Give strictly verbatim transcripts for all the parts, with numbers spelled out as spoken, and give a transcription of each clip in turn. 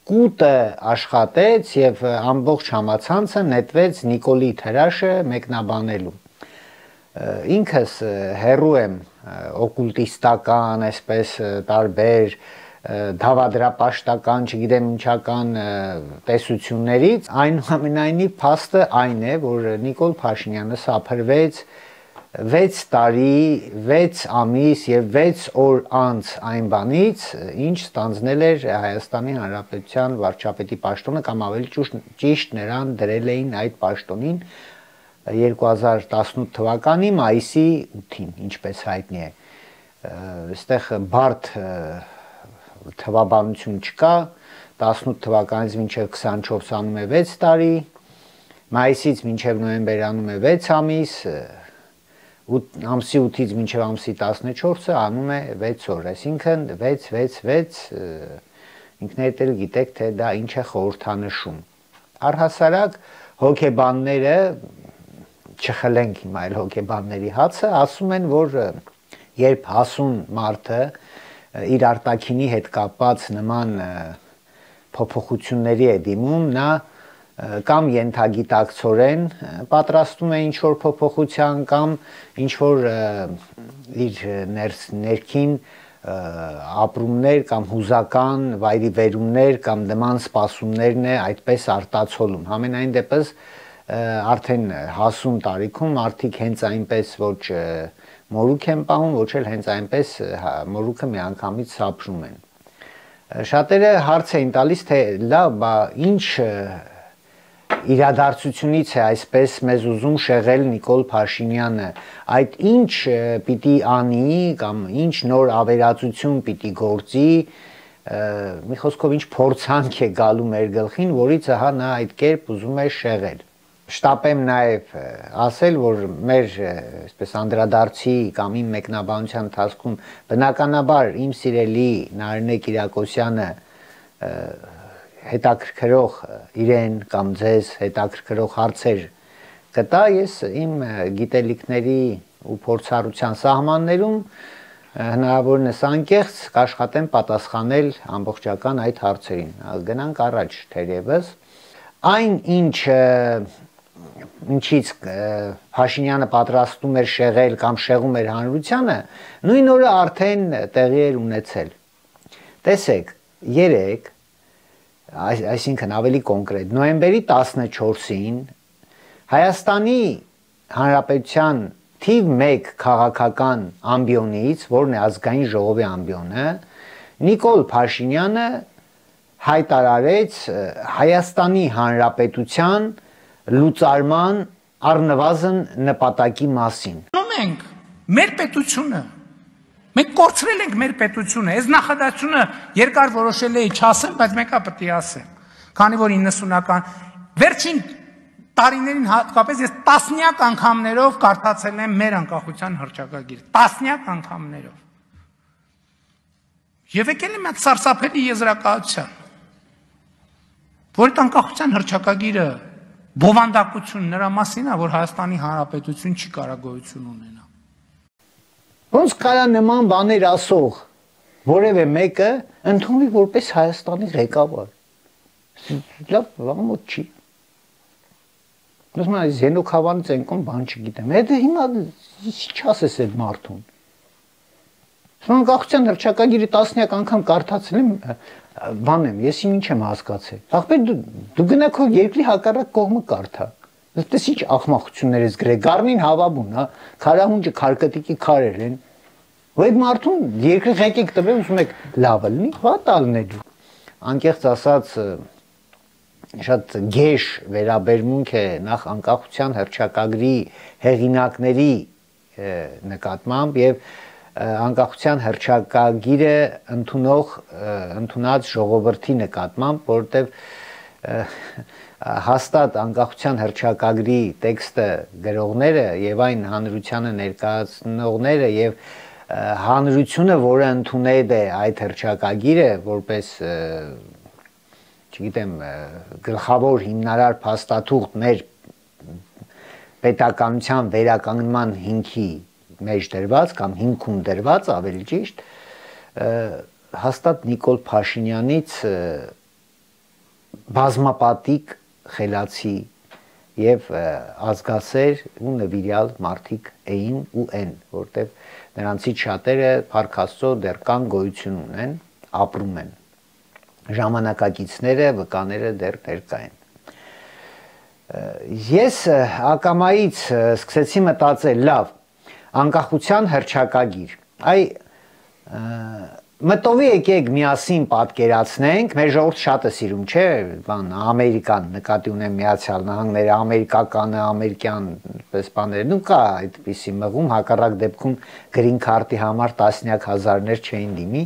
կուտը աշխատեց եւ ամբողջ համացանցը նետվեց Նիկոլի թրաշը մեկնաբանելու։ Ինքս հերու եմ օկուլտիստական, այսպես տարբեր դավադրապաշտական, չգիտեմ ինչական տեսություններից, այնուամենայնիվ փաստը այն է, որ Նիկոլ Փաշինյանը սափրվեց վեց տարի, վեց ամիս եւ վեց օր անց այն բանից, ինչ ստանձնել էր Հայաստանի Հանրապետության վարչապետի պաշտոնը, կամ ավելի ճիշտ նրան դրել էին այդ պաշտոնին երկու հազար տասնութ թվականի մայիսի ութին, ինչպես հայտնի է։ Այստեղ բարդ թվաբանություն չկա, տասնութ թվականից մինչև քսանչորս անում է վեց տարի, մայիսից մինչև նոյեմբեր անում է վեց ամիս, ամսի ութից մինչև ամսի տասնչորսը անում է վեց օր, այսինքն վեց վեց վեց, ինքներդ էլ գիտեք, թե դա ինչ է խորհրդանշում։ Առհասարակ հոգեբանները, չխլենք հիմա այլ հոգեբանների հացը, ասում են, որ երբ հասուն մարդը իր արտաքինի հետ կապված նման փոփոխությունների է դիմում, նա կամ ենթագիտակցորեն պատրաստում է ինչ-որ փոփոխության, կամ ինչ-որ իր ներքին ապրումներ կամ հուզական վայրիվերումներ կամ նման սպասումներն է այդպես արտացոլում։ Համենայն դեպս արդեն հասուն տարիքում մարդիկ հենց այնպես ոչ մորուք են պահում, ոչ էլ հենց այնպես մորուքը միանգամից սափրում են։ Շատերը հարց էին տալիս, թե լավ, բա ինչ իրադարձությունից է այսպես մեզ ուզում շեղել Նիկոլ Փաշինյանը, այդ ինչ պիտի անի կամ ինչ նոր ավերածություն պիտի գործի, մի խոսքով ինչ փորձանք է գալու մեր գլխին, որից ահա նա այդ կերպ ուզում է շեղել։ Շտապեմ նաև ասել, որ մեր այսպես անդրադարձի կամ իմ մեկնաբանության ընթացքում բնականաբար իմ սիրելի Նարինե Կիրակոսյանը հետաքրքրող իրեն կամ ձեզ հետաքրքրող հարցեր կտա, ես իմ գիտելիքների ու փորձառության սահմաններում հնարավորինս անկեղծ կաշխատեմ պատասխանել ամբողջական այդ հարցերին։ Գնանք առաջ թերևս։ Այն ինչ ինչից Փաշինյանը պատրաստում էր շեղել կամ շեղում էր հանրությանը, նույն օրը արդեն տեղի էր ունեցել։ Տեսեք, երեկ, այսինքն ավելի կոնկրետ, նոյեմբերի տասնչորսին Հայաստանի Հանրապետության թիվ մեկ քաղաքական ամբիոնից, որն է ազգային ժողովի ամբիոնը, Նիկոլ Փաշինյանը հայտարարեց Հայաստանի Հանրապետության լուծարման առնվազն նպատակի մասին։ Մենք մեր պետությունը, մենք կորցրել ենք մեր պետությունը, այս նախադասությունը երկար որոշել էի չասեմ, բայց մեկը պետք է ասեմ, քանի որ իննսունական վերջին տարիներին հատկապես ես տասնյակ անգամներով կարդացել եմ մեր անկախության հռչակագիրը, տասնյակ անգամներով։ Եվ եկել եմ այդ սարսափելի եզրակացության, որ այդ անկախության հռչակագիրը բովանդակություն նրա մասին է, որ Հայաստանի Հանրապետություն չի կարող գոյություն ունենա։ Ոնց կարա նման բաներ ասող որևէ մեկը ընդունվի որպես Հայաստանի ղեկավար։ Լավ, վաղմոտ չի։ Ոսում այս Զենոքավանից ենքոն բան չգիտեմ։ Հետը հիմա ինչ ասես այդ մարդուն։ Անկախության հռչակագիրը տասնյակ անգամ կարդացել եմ, բան եմ, ես ինչ եմ հասկացել։ Ախպեր դու գնա քո երկրի հակառակ կողմը կարդա։ Այդպես ինչ ախմախություններ ես գրել, Գառնին հավաբուն, հա, քարահունջը քարկտիկի քարեր են։ Ու այդ մարդուն երկրի ղեկիկ տվել, ուզում եք լավը լինի, վատալն է դու։ Անկեղծ ասած շատ գեշ վերաբերմունք է նախ անկախության հռչակագրի հեղինակների նկատմամբ եւ անկախության հռչակագիրը ընդունող ընդունած ժողովրդի նկատմամբ, որովհետև հաստատ անկախության հռչակագրի տեքստը գրողները եւ այն հանրությանը ներկայացնողները եւ հանրությունը, որը ընդունել է այդ հռչակագիրը որպես չգիտեմ գլխավոր հիմնարար փաստաթուղթ մեր պետականության վերականգնման հիմքի մեջ դրված կամ հիմքում դրված, ավելի ճիշտ, հաստատ Նիկոլ Փաշինյանից բազմապատիկ խելացի եւ ազգասեր ու նվիրյալ մարդիկ էին ու են, որտեղ նրանցից շատերը Փառք Աստծո դեռ կան, գոյություն ունեն, ապրում են։ Ժամանակակիցները, վկաները դեռ ներկա են։ Ես ակամայից սկսեցի մտածել, լավ, անկախության հռչակագիր։ Այ մտովի եկեք միասին պատկերացնենք, մեր ժողովուրդը շատ է սիրում, չէ, բան, Ամերիկան, նկատի ունեմ Միացյալ Նահանգները, ամերիկականը, ամերիկյան պես բաները, դու կա այդպիսի մղում, հակառակ դեպքում գրին քարտի համար տասնյակ հազարներ չէին դիմի,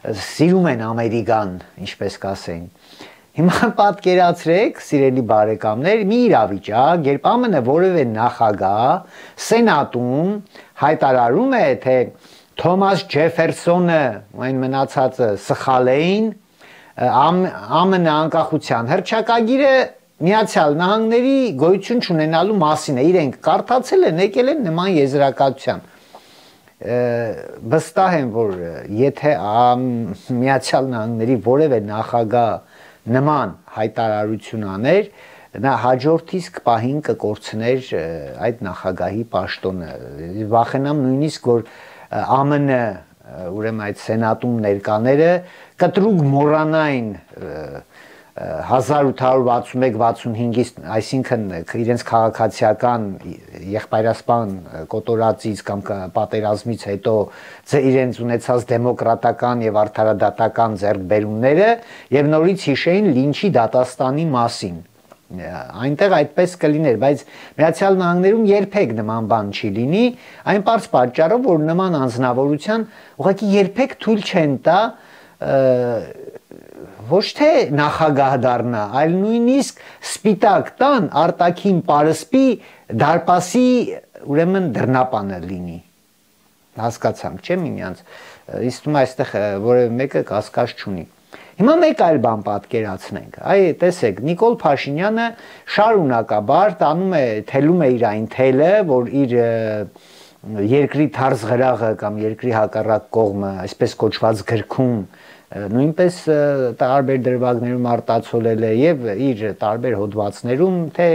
սիրում են Ամերիկան, ինչպես կասեին։ Հիմա պատկերացրեք, սիրելի բարեկամներ, մի իրավիճակ, երբ ԱՄՆ որևէ նախագահ Սենատում հայտարարում է, թե Թոմաս Ջեֆերսոնը ու այն մնացածը սխալ էին, ԱՄՆ անկախության հռչակագիրը Միացյալ Նահանգների գոյություն չունենալու մասին է, իրենք կարդացել են, եկել են նման եզրակացության։ Վստահ եմ, որ եթե Միացյալ Նահանգների որևէ նախագահ նման հայտարարություն աներ, նա հաջորդ իսկ պահին կկորցներ այդ նախագահի պաշտոնը։ Վախենամ նույնիսկ, որ ԱՄՆ ուրեմն այդ սենատում ներկաները կտրուկ մոռանային հազար ութ հարյուր վաթսունմեկ վաթսունհինգից, այսինքն իրենց քաղաքացիական եղբայրասպան կոտորածից կամ պատերազմից հետո իրենց ունեցած դեմոկրատական եւ արդարադատական ձեռքբերումները եւ նորից հիշեին Լինչի դատաստանի մասին։ Այնտեղ այդպես կլիներ, բայց Միացյալ Նահանգներում երբեք նման բան չի լինի, այն պարզ պատճառով, որ նման անձնավորության ուղղակի երբեք թույլ չեն տա ոչ թե նախագահ դառնա, այլ նույնիսկ սպիտակ տան արտաքին պարսպի դարպասի ուրեմն դռնապանը լինի։ Հասկացանք, չէ՞ միմյանց։ Իսկ թվում է այստեղ որևէ մեկը կասկած չունի։ Հիմա մեկ այլ բան պատկերացնենք։ Այ տեսեք, Նիկոլ Փաշինյանը շարունակաբար տանում է, թելում է իր այն թելը, որ իր երկրի թարզ գրաղը կամ երկրի հակառակ կողմը, այսպես կոչված գրքում նույնպես տարբեր դրվագներում արտացոլել է եւ իր տարբեր հոդվածներում, թե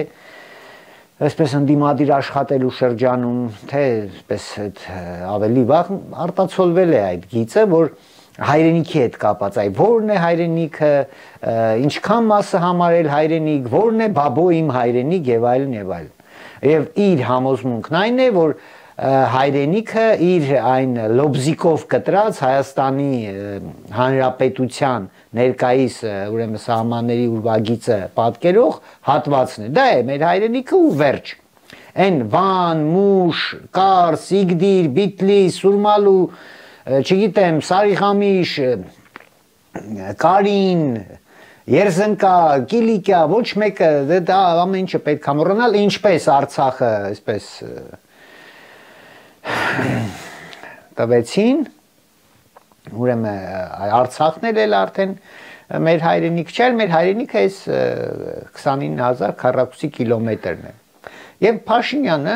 այսպես ընդդիմադիր աշխատելու շրջանում, թե այսպես ավելի վաղ արտացոլվել է այդ գիծը, որ հայրենիքի հետ կապած, այ որն է հայրենիքը, ինչքան մասը համարել հայրենիք, որն է բաբո իմ հայրենիք եւ այլն եւ այլն։ Եվ իր համոզմունքն այն է, որ հայրենիքը իր այն լոբզիկով կտրած Հայաստանի Հանրապետության ներկայիս ուրեմն սահմանների ուրվագիծը պատկերող հատվածն է։ Դա է մեր հայրենիքը ու վերջ։ Այն Վան, Մուշ, Կարս, Իգդիր, Բիտլիս, Սուրմալու, չգիտեմ, Սարիխամիշ, Կարին, Երզնկա, Կիլիկիա, ոչ մեկը դա ամեն ինչը պետք է մոռանալ, ինչպես Արցախը, այսպես տվեցին, ուրեմն Արցախն էլ արդեն մեր հայրենիք չէ, մեր հայրենիքը այս քսանինը հազար քառակուսի կիլոմետրն է։ Եվ Փաշինյանը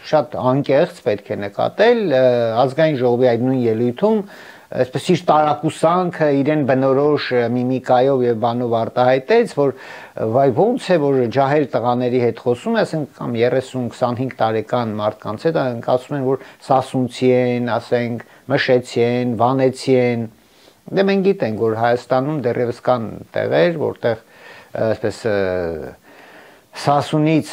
շատ անկեղծ պետք է նկատել ազգային ժողովի այդ նույն ելույթում, այսպես իր տարակուսանքը իրեն բնորոշ միմիկայով եւ բանով արտահայտեց, որ վայ ոնց է որ ջահել տղաների հետ խոսում է, ասենք կամ երեսուն քսանհինգ տարեկան մարդկանց հետ, ասում են որ սասունցի են, ասենք մշեցի են, վանեցի են։ Դե մենք գիտենք, որ Հայաստանում դեռևս կան տեղեր, որտեղ այսպես Սասունից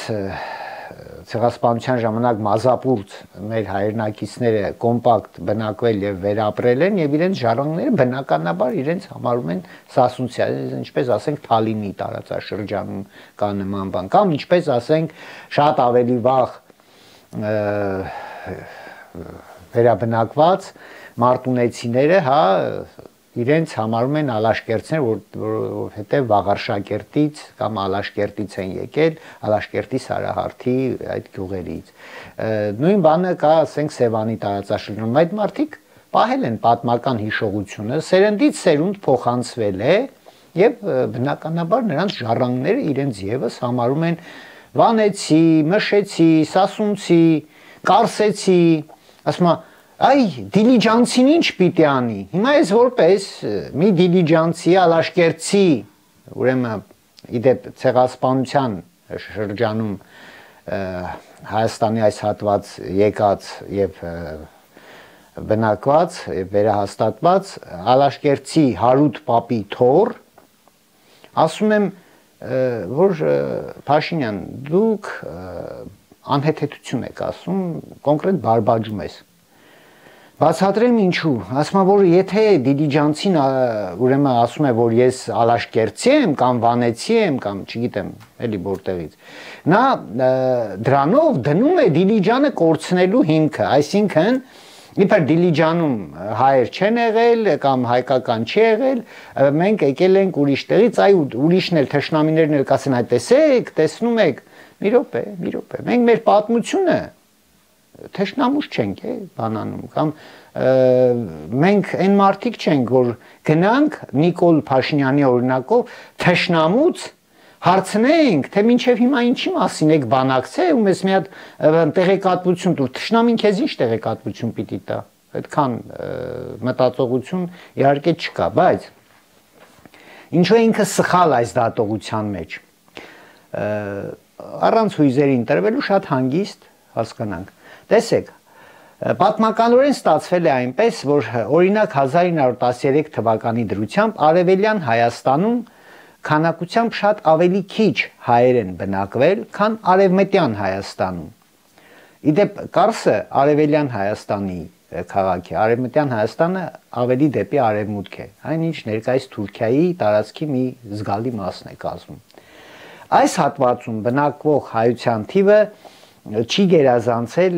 ցեղասպանության ժամանակ մազապուրց մեր հայրենակիցները կոմպակտ բնակվել եւ վերապրել են եւ իրենց ժառանգները բնականաբար իրենց համարում են սասունցի, ինչպես ասենք Թալինի տարածաշրջանում կա նման բան, կամ ինչպես ասենք շատ ավելի վաղ վերաբնակված մարտունեցիները, հա, իրենց համարում են Ալաշկերտցիներ, որովհետև Վաղարշակերտից կամ Ալաշկերտից են եկել, Ալաշկերտի Սարահարթի այդ գյուղերից։ Նույն բանը կա, ասենք, Սևանի տարածաշրջանում, այդ մարդիկ պահել են պատմական հիշողությունը, սերնդից սերունդ փոխանցվել է եւ բնականաբար նրանց ժառանգները իրենց եւս համարում են վանեցի, մշեցի, սասունցի, կարսեցի, ասում են Այ դիլիջանցին ինչ պիտի անի։ Հիմա ես որպես մի դիլիջանցի, ալաշկերտցի, ուրեմն իդեպ ցեղասպանության շրջանում Հայաստանի այս հատված եկած եւ բնակված եւ վերահաստատված Ալաշկերտի Հարութ Պապի թոռ ասում եմ որ Փաշինյան դուք անհեթեթություն եք ասում կոնկրետ բարբաջում ես Բացատրեմ ինչու, ասում եմ որ եթե դիլիջանցին ուրեմն ասում է որ ես Ալաշկերտցի եմ կամ Վանեցի եմ կամ չգիտեմ էլի որտեղից նա դրանով դնում է Դիլիջանը կորցնելու հիմքը, այսինքն իբր Դիլիջանում հայեր չեն եղել կամ հայկական չի եղել, մենք եկել ենք ուրիշ տեղից, այ ուրիշն էլ թշնամիներն էլ կասեն այ տեսեք, տեսնում եք, մի րոպե, մի րոպե, մենք մեր պատմությունը թշնամուց չենք է բանանում կամ մենք այն մարդիկ չենք որ գնանք Նիկոլ Փաշինյանի օրինակով թշնամուց հարցնենք թե մինչև հիմա ինչի մասին եք բանակցել ու մեզ մի հատ տեղեկատվություն տուր թշնամին քեզ ինչ տեղեկատվություն պիտի տա այդքան մտածողություն իհարկե չկա բայց ինչու է ինքը սխալ այս դատողության մեջ առանց հույզերի ընտրվելու շատ հանգիստ հասկանանք Տեսեք, պատմականորեն ստացվել է այնպես, որ օրինակ հազար ինը հարյուր տասներեք թվականի դրությամբ Արևելյան Հայաստանում քանակությամբ շատ ավելի քիչ հայեր են բնակվել, քան Արևմտյան Հայաստանում։ Իդեպ Կարսը Արևելյան Հայաստանի քաղաք է, Արևմտյան Հայաստանը ավելի դեպի արևմուտք է, այնինչ ներկայիս Թուրքիայի տարածքի մի զգալի մասն է կազմում։ Այս հատվածում բնակվող հայության թիվը չի գերազանցել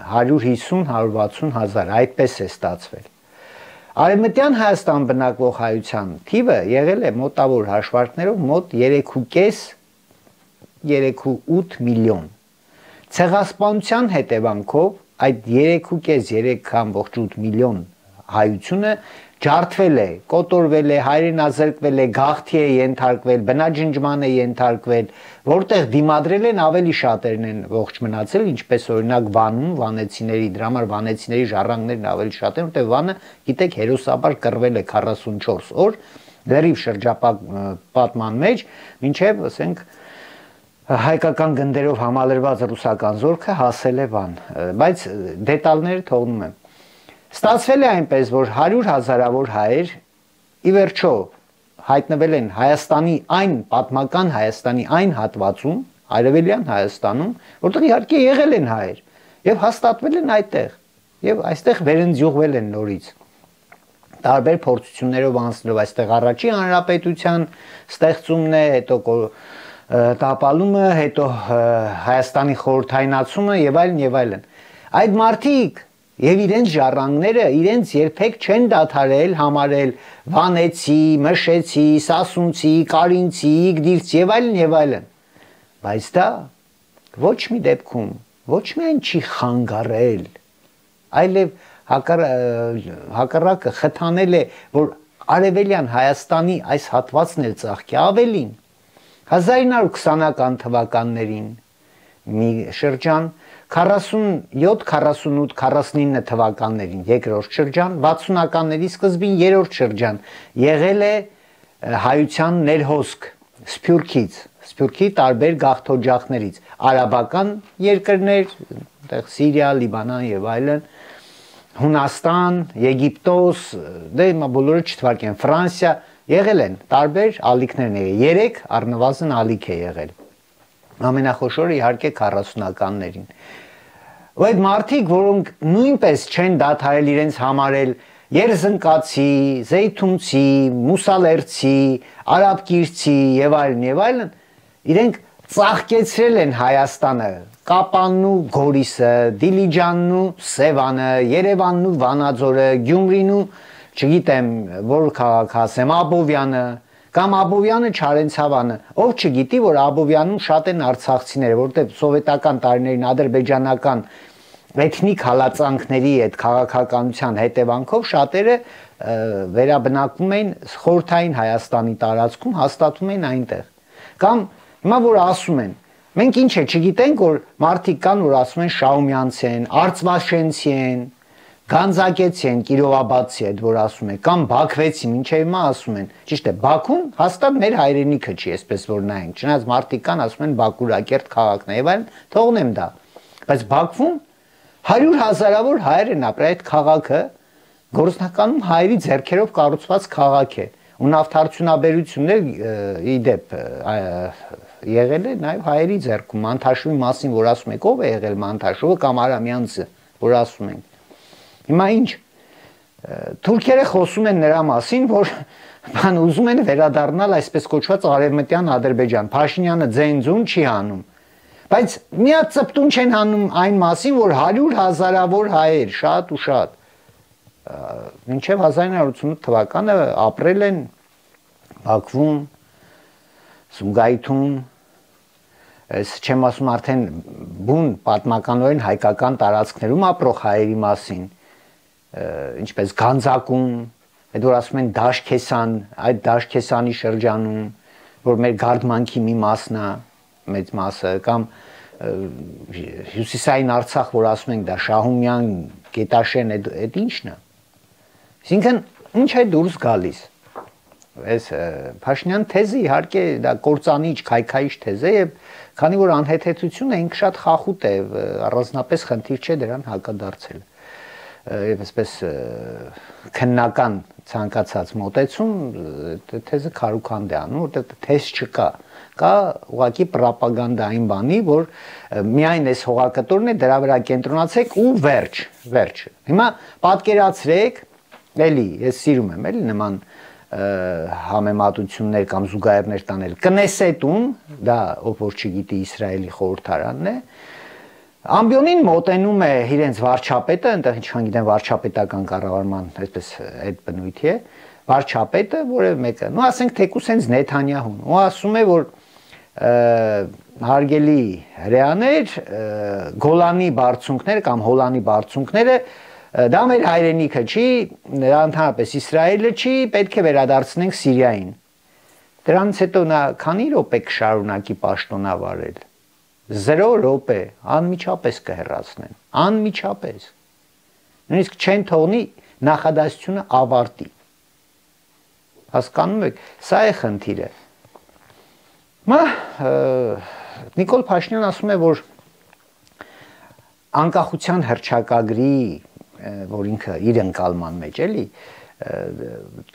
հարյուր հիսուն հարյուր վաթսուն հազար, այդպես է ստացվել։ Արևմտյան Հայաստան բնակվող հայության թիվը եղել է մոտավոր հաշվարկներով մոտ երեք ու ութ միլիոն։ Ցեղասպանության հետևանքով այդ երեք ու կես երեք կամբողջ ութ միլիոն հայությունը ջարդվել է, կոտորվել է, հայրենազրկվել է, գաղթի է ենթարկվել, բնաջնջման է ենթարկվել, որտեղ դիմադրել են ավելի շատերն են ողջ մնացել, ինչպես օրինակ Վանում, վանեցիների, դրա համար վանեցիների ժառանգներն ավելի շատ են, որտեղ Վանը, գիտեք, հերոսաբար կռվել է քառասունչորս օր, դեռիվ շրջապատման մեջ, մինչև, ասենք, հայկական գնդերով համալրված ռուսական զորքը հասել է Վան, բայց դետալները թողնում եմ։ Ստացվել է այնպես, որ հարյուր հազարավոր հայեր ի վերջո հայտնվել են Հայաստանի այն պատմական Հայաստանի այն հատվածում, Արևելյան Հայաստանում, որտեղ իհարկե եղել են հայեր եւ հաստատվել են այդտեղ եւ այստեղ վերընձյուղվել են նորից։ Տարբեր փորձություններով անցնելով այստեղ առաջի հանրապետության ստեղծումն է, հետո տապալումը, հետո Հայաստանի խորհրդայնացումը եւ այլն եւ այլն։ Այդ մարդիկ Եվ իրենց ժառանգները իրենց երբեք չեն դադարել համարել Վանեցի, Մշեցի, Սասունցի, Կարինցի, Իգդիրցի եւ այլն եւ այլն։ Բայց դա ոչ մի դեպքում ոչ միայն չի խանգարել, այլև հակառակը խթանել է, որ Արևելյան Հայաստանի այս հատվածն էլ ծաղկի ավելին։ հազար ինը հարյուր քսանական թվականներին մի շրջան քառասունյոթ քառասունութ քառասունինը թվականներին երկրորդ շրջան, վաթսունականների սկզբին երրորդ շրջան եղել է հայության ներհոսք Սփյուռքից, Սփյուռքի տարբեր գաղթօջախներից, արաբական երկրներ, այդտեղ Սիրիա, Լիբանան եւ այլն, Հունաստան, Եգիպտոս, դե հիմա բոլորը չթվարկեն, Ֆրանսիա եղել են, տարբեր ալիքներն եղել, երեք առնվազն ալիք է եղել։ Ամենախոշորը իհարկե քառասունականներին։ Ու այդ մարդիկ, որոնք նույնպես չեն դադարել իրենց համարել երզնկացի, զեյթունցի, մուսալերցի, արաբկիրցի եւ այլն եւ այլն, իրենք ծաղկեցրել են Հայաստանը, Կապանն ու Գորիսը, Դիլիջանն ու Սևանը, Երևանն ու Վանաձորը, Գյումրին ու չգիտեմ որ քաղաք ասեմ, Աբովյանը կամ Աբովյանը Չարենցավանը, ով չգիտի, որ Աբովյանում շատ են արցախցիները, որտեղ սովետական տարիներին ադրբեջանական էթնիկ հալածանքների այդ քաղաքականության հետևանքով շատերը վերաբնակվում էին խորհրդային Հայաստանի տարածքում, հաստատվում էին այնտեղ։ Կամ հիմա որ ասում են, մենք ինչ է, չգիտենք, որ մարդիկ կան, որ ասում են Շաումյանցի են, Արծվաշենցի են, Գանձակեցի են, Կիրովաբադցի այդ որ ասում են, կամ Բաքվեցի, մինչև հիմա ասում են։ Ճիշտ է, Բաքուն հաստատ մեր հայրենիքը չի, այսպես որ նայենք։ Չնայած մարդիկ կան ասում են Բաքուրակերտ քաղաքն է, եւ այլն, թողնեմ դա։ Բայց Բաքվում հարյուր հազարավոր հայեր են ապրել, այդ քաղաքը գործնականում հայերի ձեռքերով կառուցված քաղաք է։ Ու նավթարդյունաբերություններ ի դեպ եղել է նաև հայերի ձեռքում, Մանթաշովի մասին, որ ասում եք, ով է եղել Մանթաշովը կամ Արամյանցը, որ ասում են։ Հիմա ինչ թուրքերը խոսում են նրա մասին, որ բան ուզում են վերադառնալ այսպես կոչված արևմտյան Ադրբեջան։ Փաշինյանը ձեն-ձուն չի անում։ Բայց միա ծպտուն չեն անում այն մասին, որ հարյուր հազարավոր հայեր, շատ ու շատ, մինչև հազար ինը հարյուր ութսունութ թվականը ապրել են Բաքվում, Սումգայիթում, ես չեմ ասում արդեն բուն պատմականորեն հայկական տարածքներում ապրող հայերի մասին, ինչպես Գանձակում, այդ որ ասում են Դաշքեսան, այդ Դաշքեսանի շրջանում, որ մեր գարդմանքի մի մասն է, մեծ մասը, կամ Հյուսիսային Արցախ, որ ասում ենք դա Շահումյան, Գետաշեն, այդ ի՞նչն է։ Այսինքն ինչ է դուրս գալիս։ Այս Փաշինյան թեզը իհարկե դա կործանիչ, քայքայիչ թեզ է եւ քանի որ անհեթեթությունը ինքը շատ խախուտ է, առանձնապես խնդիր չէ դրան հակադարձել։ Եվ այսպես քննական ցանկացած մոտեցում թեզը քարուքանդ է անում, որտեղ թեզ չկա, կա ուղղակի պրոպագանդային բանի, որ միայն այս հողակտորն է, դրա վրա կենտրոնացեք ու վերջ, վերջ։ Հիմա պատկերացրեք, էլի, ես սիրում եմ, էլի նման համեմատություններ կամ զուգահեռներ տանել։ Կնեսետում, դա ով որ չգիտի Իսրայելի խորհրդարանն է, ամբիոնին մոտենում է իրենց վարչապետը, այնտեղ ինչքան գիտեմ վարչապետական կառավարման այսպես այդ բնույթի է, վարչապետը, որևէ մեկը, նո ասենք թեկուս հենց Նեթանյահուն, ու ասում է, որ հարգելի հրեաներ, Գոլանի բարձունքները կամ Հոլանի բարձունքները դա մեր հայրենիքը չի, ընդհանրապես Իսրայելը չի, պետք է վերադարձնենք Սիրիային։ Դրանից հետո նա քանի րոպե կշարունակի պաշտոնավարել։ Զրո րոպե, անմիջապես կհեռացնեն, անմիջապես։ Նույնիսկ չեն թողնի նախադասությունը ավարտի։ Հասկանում եք, սա է խնդիրը։ Մա Նիկոլ Փաշինյան ասում է, որ անկախության հռչակագրի, որ ինքը իր ընկալման մեջ էլի,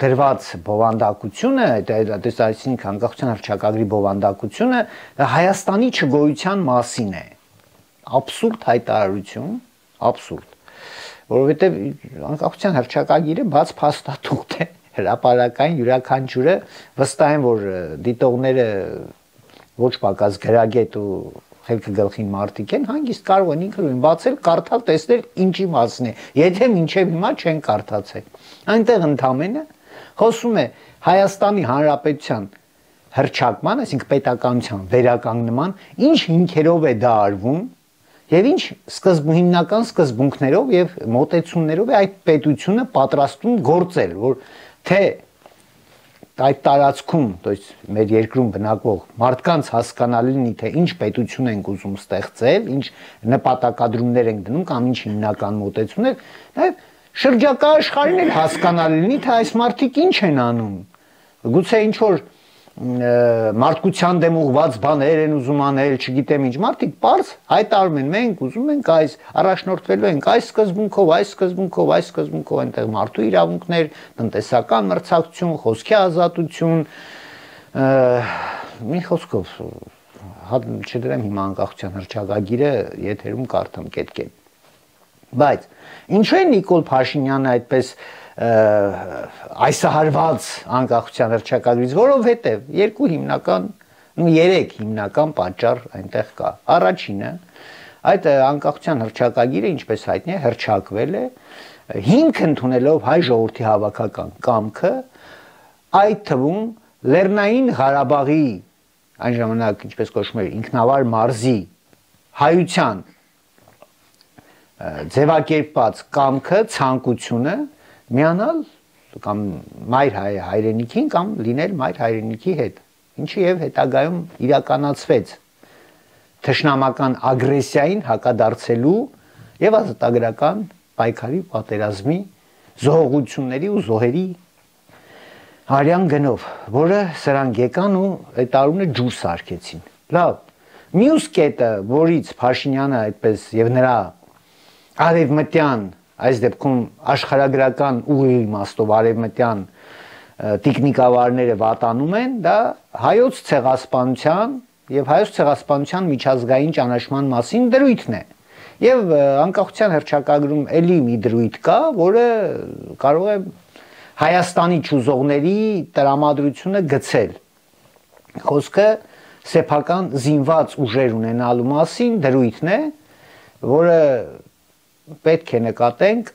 դրված բովանդակությունը, այսինքն անկախության հռչակագրի բովանդակությունը Հայաստանի չգոյության մասին է։ Աբսուրդ հայտարարություն, աբսուրդ, որովհետև անկախության հռչակագիրը բաց փաստաթուղթ է, հրապարակային յուրաքանչյուրը վստահ եմ, որ դիտողները ոչ պակաս գրագետ ու խելքը գլխին մարդիկ են, հանգիստ կարող են ինքնուրույն բացել, կարդալ, տեսնել ինչի մասին է, եթե մինչև հիմա չեն կարդացել։ Այնտեղ ընդամենը խոսում է Հայաստանի Հանրապետության հռչակման, այսինքն պետականության վերականգնման, ինչ հիմքերով է դա արվում եւ ինչ սկզբունքական սկզբունքներով եւ մոտեցումներով է այդ պետությունը պատրաստում գործել, որ թե այդ տարածքում, то есть մեր երկրում բնակվող մարդկանց հասկանալի լինի, թե ինչ պետություն ենք ուզում ստեղծել, ինչ նպատակադրումներ ենք դնում կամ ինչ հիմնական մոտեցումներ, նաև շրջակա աշխարհին էլ հասկանալի լինի, թե այս մարդիկ ինչ են անում։ Գուցե ինչ որ մարդկության դեմ ուղված բաներ են ուզում անել, չգիտեմ ինչ, մարդիկ պարզ հայտարարում են, մենք ուզում ենք այս, առաջնորդվելու ենք այս սկզբունքով, այս սկզբունքով, այս սկզբունքով, այնտեղ մարդու իրավունքներ, տնտեսական մրցակցություն, խոսքի ազատություն, մի խոսքով, չդրեմ հիմա անկախության հռչակագիրը եթերում կարդամ կետկեն։ Բայց ինչու է Նիկոլ Փաշինյանը այդպես այսահարված անկախության հռչակագրից, որովհետև երկու հիմնական, ու երեք հիմնական պատճառ այնտեղ կա։ Առաջինը, այդ անկախության հռչակագիրը, ինչպես հայտնի է, հռչակվել է հիմք ընդունելով հայ ժողովրդի հավաքական կամքը, այդ թվում Լեռնային Ղարաբաղի այն ժամանակ, ինչպես կոչվում էր, ինքնավար մարզի հայության ձևակերպած կամքը, ցանկությունը միանալ կամ մայր հայրենիքին կամ լինել մայր հայրենիքի հետ, ինչը եւ հետագայում իրականացվեց թշնամական ագրեսիային հակադարձելու եւ ազատագրական պայքարի, պատերազմի, զոհողությունների ու զոհերի արյան գնով, որը սրանք եկան ու այդ տարունը ջուր սարքեցին։ Լավ, մյուս կետը, որից Փաշինյանը այդպես եւ նրա արևմտյան, այս դեպքում աշխարհագրական ուղի իմաստով արևմտյան տիկնիկավարները վատանում են, դա հայոց ցեղասպանության եւ հայոց ցեղասպանության միջազգային ճանաչման մասին դրույթն է։ Եվ անկախության հռչակագրում էլի մի դրույթ կա, որը կարող է Հայաստանի ճուզողների տրամադրությունը գցել։ Խոսքը սեփական զինված ուժեր ունենալու մասին դրույթն է, որը պետք է նկատենք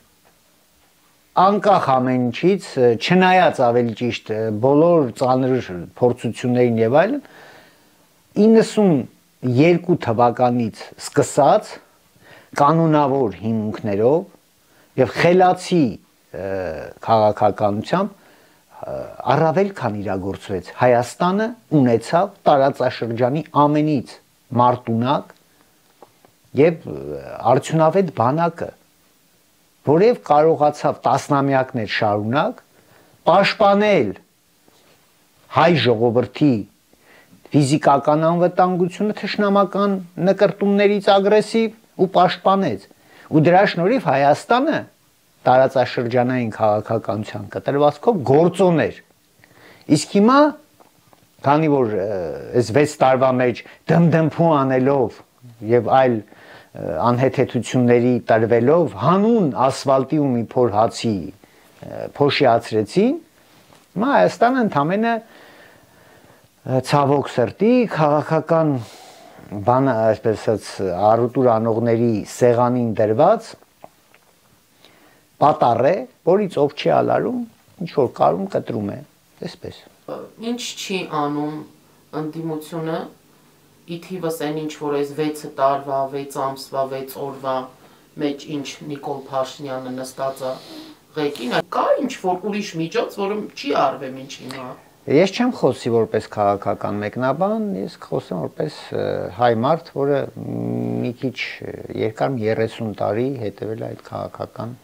անկախ ամեն ինչից, չնայած ավելի ճիշտ բոլոր ծանր փորձություններին եւ այլն, իննսունյոթ թվականից սկսած կանոնավոր հիմունքներով եւ խելացի քաղաքականությամբ առավել քան իրագործվեց Հայաստանը ունեցավ տարածաշրջանի ամենից մարտունակ եւ արդյունավետ բանակը, որև կարողացավ տասնամյակներ շարունակ պաշտպանել հայ ժողովրդի ֆիզիկական անվտանգությունը թշնամական նկրտումներից ագրեսիվ ու պաշտպանեց, ու դրա շնորհիվ Հայաստանը տարածաշրջանային քաղաքականության կտրվածքով գործոն էր։ Իսկ հիմա, քանի որ այս վեց տարվա մեջ դմդմփու անելով եւ այլ անհեթեթությունների տրվելով հանուն ասֆալտի ու մի փոր հացի փոշիացրեցին, հիմա Հայաստանը ընդամենը ցավոք սրտի քաղաքական բան, այսպես ասած, առուտուր անողների սեղանին դրված պատառ է, որից ով չի ալարում, ինչ որ կարում կտրում է, այսպես։ Ինչ չի անում ընդդիմությունը, ի թիվս այն ինչ որ այս վեց տարվա, վեց ամսվա, վեց օրվա մեջ ինչ Նիկոլ Փաշինյանը նստած է ղեկին, կա ինչ որ ուրիշ միջոց, որը չի արվեմ ինչ հիմա։ Ես չեմ խոսի որպես քաղաքական մեկնաբան, ես խոսեմ որպես հայ մարդ, որը մի քիչ երկար երեսուն տարի հետևել է այդ քաղաքական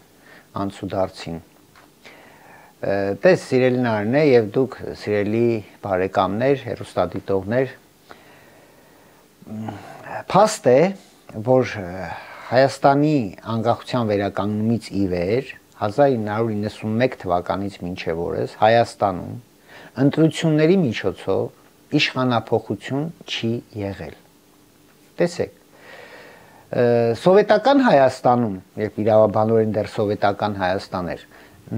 անցուդարձին։ Տես սիրելի Նարինե եւ դուք սիրելի բարեկամներ, հեռուստադիտողներ, փաստ է, որ Հայաստանի անկախության վերականգնումից ի վեր հազար ինը հարյուր իննսունմեկ թվականից մինչև օրս Հայաստանում ընտրությունների միջոցով իշխանափոխություն չի եղել։ Տեսեք, սովետական Հայաստանում, երբ իրավաբանորեն դեռ սովետական Հայաստան էր,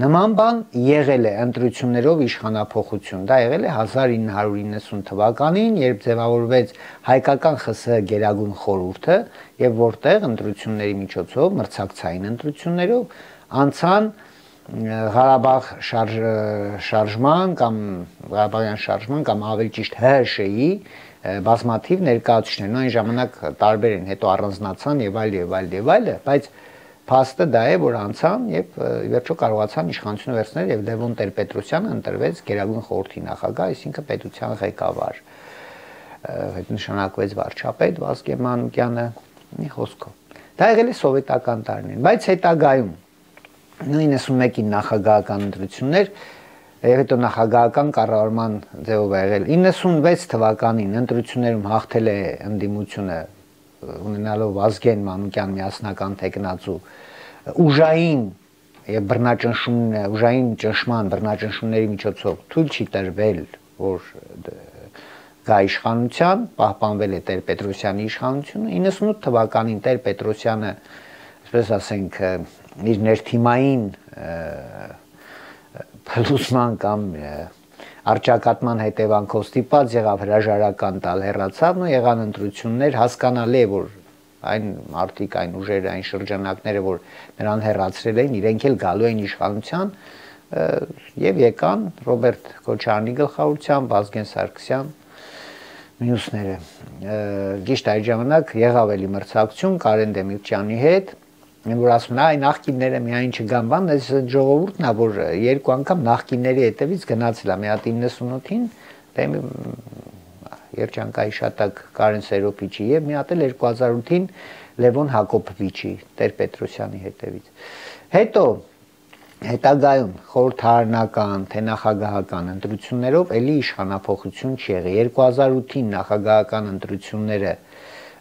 նման բան եղել է ընտրություններով իշխանափոխություն, դա եղել է հազար ինը հարյուր իննսուն թվականին, երբ ձևավորվեց հայկական ԽՍՀ Գերագույն խորհուրդը եւ որտեղ ընտրությունների միջոցով, մրցակցային ընտրություններով անցան Ղարաբաղ շարժման կամ Ղարաբաղյան շարժման կամ ավելի ճիշտ ՀՀՇ-ի բազմաթիվ ներկայացուցիչներ, այն ժամանակ տարբեր են, հետո առանձնացան եւ այլ եւ այլ եւ այլը, բայց փաստը դա է, որ անցան եւ վերջո կարողացան իշխանությունը վերցնել եւ Լևոն Տեր-Պետրոսյանը ընտրվեց Գերագույն խորհրդի նախագահ, այսինքն պետության ղեկավար։ Այդ նշանակվեց վարչապետ Վազգեն Մանուկյանը, մի խոսքով։ Դա եղել է սովետական տարիներին, բայց հետագայում իննսունմեկին նախագահական ընտրություններ եւ հետո նախագահական կառավարման ձևով եղել։ իննսունվեց թվականին ընտրություններում հաղթել է ընդդիմությունը ունենալով Վազգեն Մանուկյան միասնական տեխնացու ուժային եւ բռնաճնշում ուժային ճնշման բռնաճնշումների միջոցով թույլ չի տրվել, որ գա իշխանության, պահպանվել է Տեր-Պետրոսյանի իշխանությունը։ իննսունութ թվականին Տեր-Պետրոսյանը, այսպես ասենք, իր ներթիմային փլուզման կամ արճակատման հետևանքով ստիպած եղավ հրաժարական տալ, հեռացավ ու եղան ընտրություններ, հասկանալի է, որ այն մարդիկ, այն ուժերը, այն շրջանակները, որ նրան հեռացրել էին, իրենք էլ գալու էին իշխանության եւ եկան Ռոբերտ Քոչարյանի գլխավորությամբ, Վազգեն Սարգսյան, մյուսները։ Ճիշտ այդ ժամանակ եղավ էլի մրցակցություն Կարեն Դեմիրճյանի հետ, որ ասում են, այ նախկինները միայն չգան բան, այս ժողովուրդն է, որ երկու անգամ նախկինների հետևից գնացել է, մի հատ իննսունութին, երջանկայի շատակ Կարեն Սերոպիչի եւ մի հատ էլ երկու հազար ութին Լևոն Հակոբովիչի, Տեր-Պետրոսյանի հետևից։ Հետո հետագայում խորհրդարանական, թե նախագահական ընտրություններով էլի իշխանափոխություն չի եղել։ երկու հազար ութին նախագահական ընտրությունները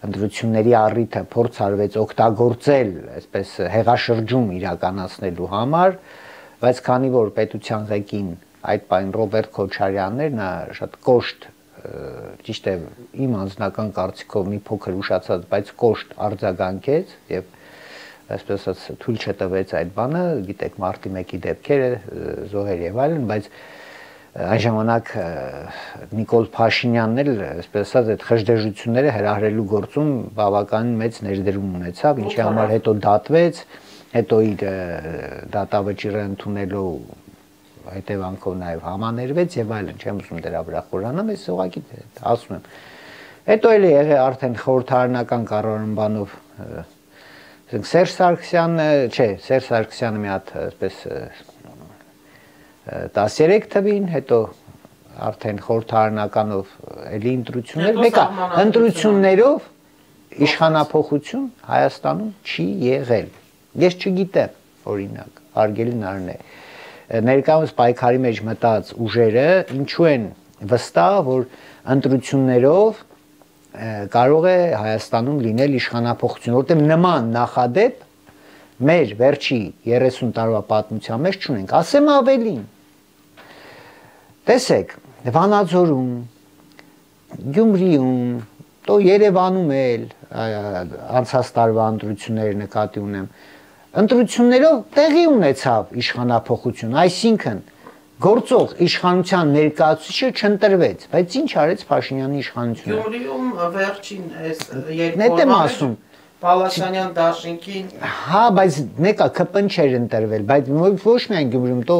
ընտրությունների առիթը փորձ արվեց օգտագործել, այսպես հեղաշրջում իրականացնելու համար, բայց քանի որ պետության ղեկին այդ պայն Ռոբերտ Քոչարյանն էր, նա շատ կոշտ, ճիշտ է, իմ անձնական կարծիքով մի փոքր ուշացած, բայց կոշտ արձագանքեց եւ այսպես ասած թույլ չտվեց այդ բանը, գիտեք, մարտի մեկի դեպքերը, զոհեր եւ այլն, բայց այն ժամանակ Նիկոլ Փաշինյանն էլ, այսպես ասած, այդ խժդեժությունները հրահրելու գործում բավականին մեծ ներդրում ունեցավ, ինչի համար հետո դատվեց, հետո իր դատավճիռը ընդունելու հետևանքով նաեւ համաներվեց եւ այլն, չեմ ուզում դրա վրա խորանամ, ես ուղղակի ասում եմ։ Հետո էլ եղել արդեն խորհրդարանական կառավարումբանով Սերժ Սարգսյանը, չէ, Սերժ Սարգսյանը մի հատ այսպես տասներեք թվին, հետո արդեն խորհրդարանականով էլի ընտրություններ, մեկը ընտրություններով իշխանափոխություն Հայաստանում չի եղել։ Ես չգիտեմ, օրինակ, հարգելի Նարնե, ներկայումս պայքարի մեջ մտած ուժերը ինչու են վստահ, որ ընտրություններով կարող է Հայաստանում լինել իշխանափոխություն, որտեղ նման նախադեպ մեր վերջի երեսուն տարվա պատմության մեջ չունենք, ասեմ ավելին։ Տեսեք, Վանաձորում, Գյումրիում, տո Երևանում էլ անցած տարվա ընտրությունները նկատի ունեմ, ընտրություններով տեղի ունեցավ իշխանափոխություն, այսինքն գործող իշխանության ներկայացուցիչը չընտրվեց, բայց ինչ արեց Փաշինյանի իշխանությունը։ Գյումրիում վերջին այս երկու օրը Պալասանյան դաշինքին։ Հա, բայց մեկը ԿՊ-ն չէր ընտրվել, բայց ոչ միայն Գյումրիում, տո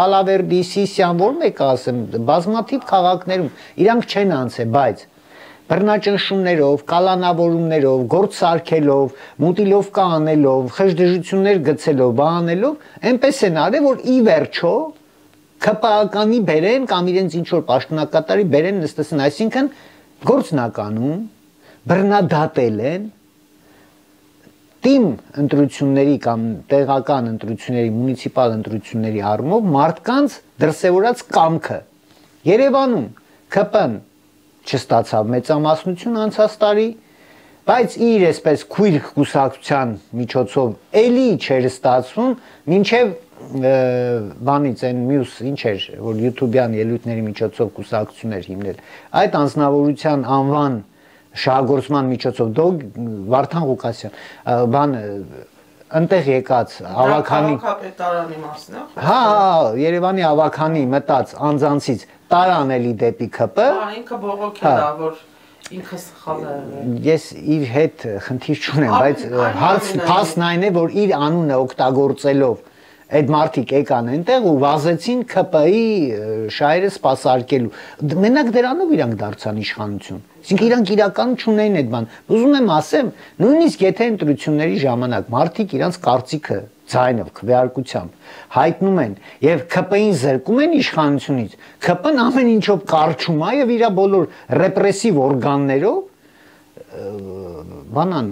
Ալավերդի, Սիսիան, որ մեկը ասեմ, բազմաթիվ քաղաքներում իրանք չեն անցել, բայց բռնաճնշումներով, կալանավորումներով, գործ սարքելով, մուտիլովկա անելով, խժդժություններ գցելով, բանելով, այնպես են արել, որ ի վերջո ԿՊԱ-կանի բերեն կամ իրենց ինչ-որ պաշտոնակատարի բերեն նստեցին, այսինքն գործնականում բռնադատել են թիմ ընտրությունների կամ տեղական ընտրությունների, մունիցիպալ ընտրությունների առումով մարդկանց դրսևորած կամքը։ Երևանում ԿՊ-ն չստացավ մեծամասնություն անցած տարի, բայց իր այսպես քույր կուսակցության միջոցով էլի չէր ստացվում, մինչև բանից այն մյուս ինչ էր, որ յութուբյան ելույթների միջոցով կուսակցություններ հիմնել, այդ անձնավորության անվան շահագործման միջոցով դո Վարդան Ղուկասյան, բան ընտեղ եկած ավականի քաղաքապետարանի մասն է։ Հա, Երևանի ավականի մտած անձանցից տարան էլի դեպի ԿՊ։ Հա, ինքը բողոքել է, որ ինքը սխալ է։ Ես իր հետ խնդիր չունեմ, բայց հարցն այն է, որ իր անունը օգտագործելով այդ մարդիկ եկան այնտեղ ու վազեցին ԿՊ-ի շահերը սպասարկելու։ Մենակ դրանով իրանք դարձան իշխանություն։ Այսինքն իրանք իրական չունեն այդ բան։ Ուզում եմ ասեմ, նույնիսկ եթե ընտրությունների ժամանակ մարդիկ իրանք կարծիքը ձայնով, քվեարկությամբ հայտնում են եւ ԿՊ-ին զրկում են իշխանությունից, ԿՊ-ն ամեն ինչով կարճում է եւ իր բոլոր ռեպրեսիվ օրգաններով բանան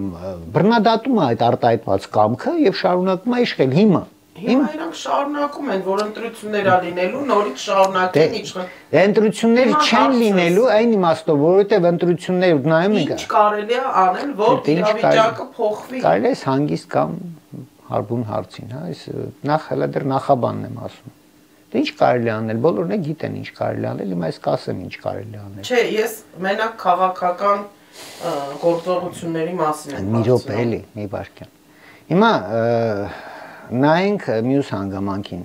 բռնադատում է այդ արտահայտված կամքը եւ շարունակում է իշխել հիմա։ Հիմա իրանք շարունակում են, որ ընտրություններ ա լինելու, նորից շարունակեն իշխան։ Ընտրություններ չեն լինելու այն իմաստով, որովհետև ընտրություններ նայում ենք։ Ինչ կարելի է անել, որ իրավիճակը փոխվի։ Կարելի է հանգիստ կամ հարբուն հարցին, հա, այս նախ հələ դեռ նախաբանն եմ ասում։ Դե ինչ կարելի անել, բոլորն է գիտեն ինչ կարելի անել, հիմա ես կասեմ ինչ կարելի անել։ Չէ, ես մենակ քաղաքական գործողությունների մասին եմ ասում։ Մի րոպե էլի, մի վարքյան։ Հիմա նայենք մյուս հանգամանքին,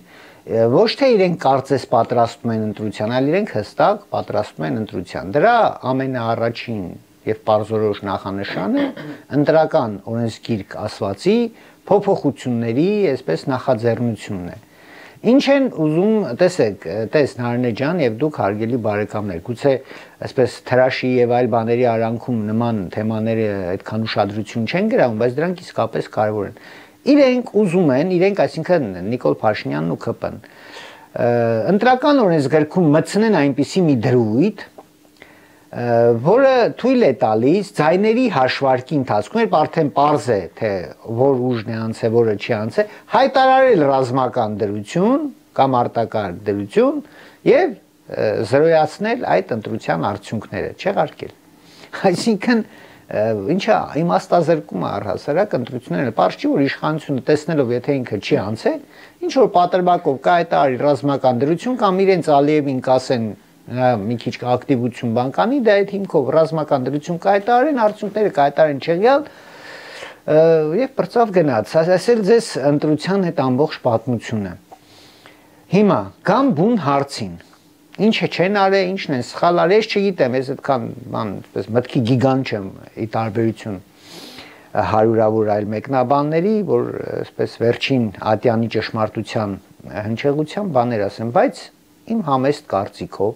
ոչ թե իրենք կարծես պատրաստում են ընտրության, այլ իրենք հստակ պատրաստում են ընտրության։ Դրա ամենաառաջին եւ պարզորոշ նախանշանը ընտրական օրենսգիրք ասվածի փոփոխությունների, այսպես նախաձեռնությունն է։ Ինչ են ուզում, տեսեք, տես Նարինե ջան եւ դուք հարգելի բարեկամներ, գուցե այսպես թրաշի եւ այլ բաների արանքում նման թեմաները այդքան ուշադրություն չեն գրավում, բայց դրանք իսկապես կարեւոր են։ Իրենք ուզում են, իրենք, այսինքն Նիկոլ Փաշինյանն ու ԿՊ-ն ընտրական օրենսգրքում մտցնեն այնպիսի մի դրույթ, որը թույլ է տալիս ձայների հաշվարկի ընթացքում, երբ արդեն պարզ է, թե որ ուժն է անցել, որը չի անցել, հայտարարել ռազմական դրություն կամ արտակարգ դրություն եւ զրոյացնել այդ ընտրության արդյունքները, չեղարկել։ Այսինքն ինչա իմաստազրկում է առհասարակ ընտրությունները, պարզ չի որ իշխանությունը տեսնելով եթե ինքը չի անցել, ինչ որ պատրվակով կայտարարի ռազմական դրություն կամ իրենց Ալիևին կասեն մի քիչ ակտիվություն բան կանի, դա այդ հիմքով ռազմական դրություն կայտարարեն, արդյունքները կայտարարեն չեղյալ եւ բրծավ գնաց։ Ասել ձեզ ընտրության հետ ամբողջ պատմությունը։ Հիմա կամ բուն հարցին ինչը չեն արել, ինչն են սխալ արել, ես չգիտեմ, ես այդքան բան, այսպես մտքի գիգան չեմ ի տարբերություն հարյուրավոր այլ մեկնաբանների, որ այսպես վերջին ատյանի ճշմարտության հնչեղության բաներ ասեմ, բայց իմ համեստ կարծիքով